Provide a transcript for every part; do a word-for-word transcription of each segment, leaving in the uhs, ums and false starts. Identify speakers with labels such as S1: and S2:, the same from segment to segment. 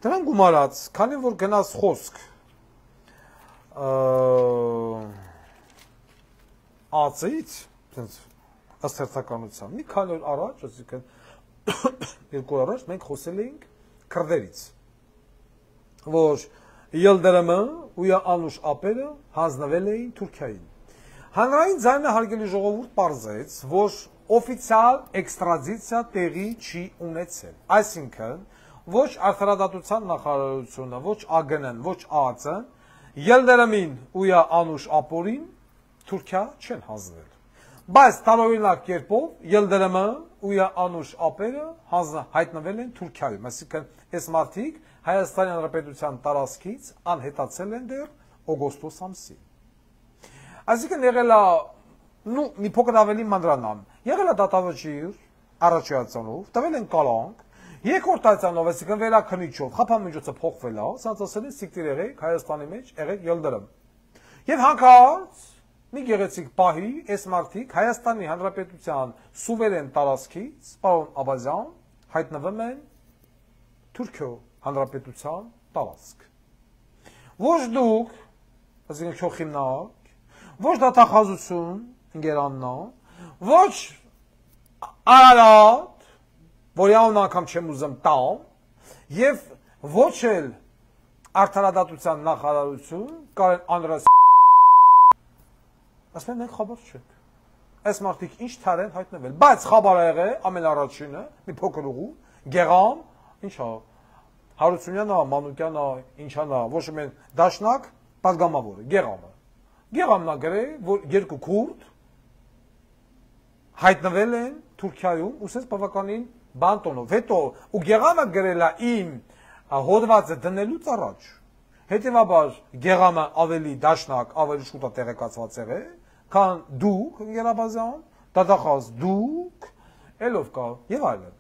S1: Դրան գումարած, քանի որ գնաց խոսք ածից, ըստ հերթականության, մի քանի օր առաջ, այսինքն երկու օր առաջ մենք խոսել էինք քրդերից, որ Ելդրմը ու Անուշ ապերը հանձնվել էին Թուրքիային։ Հանրային ձայնը հարգելի ժողովուրդ պարզեց, որ օֆիցիալ էքստրադիցիա տեղի չի ունեցել։ Այսինքն, ոչ արդարադատության նախարարությունը, ոչ ԱԳՆ-ն, ոչ ԱԱԾ-ն Ելդրմին ու Անուշ ապորին Թուրքիա չեն հանձնել։ Բայց տարօրինակ կերպով Ելդրմը ու Անուշ ապերը հայտնվել են Թուրքիայում, այսինքն այս մարդիկ Հայաստանի Հանրապետության տարածքից անհետացել են դեռ օգոստոս ամսին։ Այսինքն եղել է, նու մի փոքր ավելի մանրանամ, եղել է դատավճիռ առաջացանով, տվել են կալանք, երկրորդ այցանով, այսինքն վերաքննիչով, խափամիջոցը փոխվել է, սրանց ասել են սիկտիր եղեք Հայաստանի մեջ, եղեք Ելդրմ։ Եվ հանկարծ մի գեղեցիկ պահի այս մարդիկ Հայաստանի Հանրապետության սուվերեն տարածքից, պարոն Աբազյան, հայտնվում են Թուրքիո Հանրապետության տարածք։ Ոչ դուք, այսինքն քյոխիմնակ, ոչ դատախազություն, ընկերաննա, ոչ Արարատ, որի անուն անգամ չեմ ուզում տամ, եւ ոչ էլ արդարադատության նախարարություն, Կարեն Անդրեաս ասում են մենք խաբար չենք։ Այս մարդիկ ինչ թար են հայտնվել, բայց խաբար ա եղել ամենառաջինը, մի փոքր ուղու, Գեղամ, ինչա, Հարությունյանա, Մանուկյանա, ինչանա, ոչ մեն դաշնակ, պատգամավորը, Գեղամը։ Գեղամն ա գրել, որ երկու քուրդ հայտնվել են Թուրքիայում, ուսես բավականին բանտոնով։ Հետո ու Գեղամը գրել է իմ հոդվածը դնելուց առաջ։ Հետևաբար Գեղամը ավելի դաշնակ, ավելի շուտ է տեղեկացված եղել, քան դուք, Գերաբազյան, դատախազ դուք, ելով կա եւ այլն։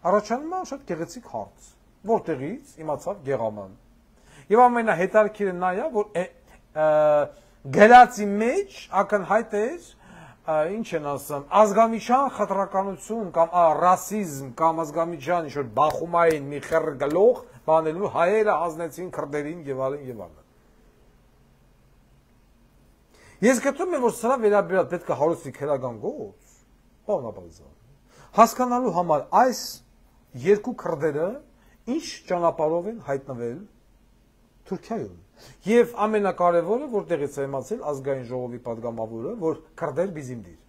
S1: Առաջանում է շատ գեղեցիկ հարց, որտեղից իմացավ Գեղամը։ Եվ ամենահետաքրքիրը նա է, որ գրածի մեջ ակնհայտ էր, ինչ են ասում, ազգամիջյան խտրականություն կամ ռասիզմ կամ ազգամիջյան ինչ-որ բախումային մի խեռ գլող բանելու հայերը հանձնեցին քրդերին եւ այլն եւ այլն։ Ես գտնում եմ, որ սրա վերաբերյալ պետք է հարուցվի քրական գործ, պարոն Աբազյան, հասկանալու համար այս երկու քրդերը ինչ ճանապարհով են հայտնվել Թուրքիայում։ Եվ ամենակարևորը, որտեղից է իմացել ազգային ժողովի պատգամավորը, որ քրդեր բիզիմդիր։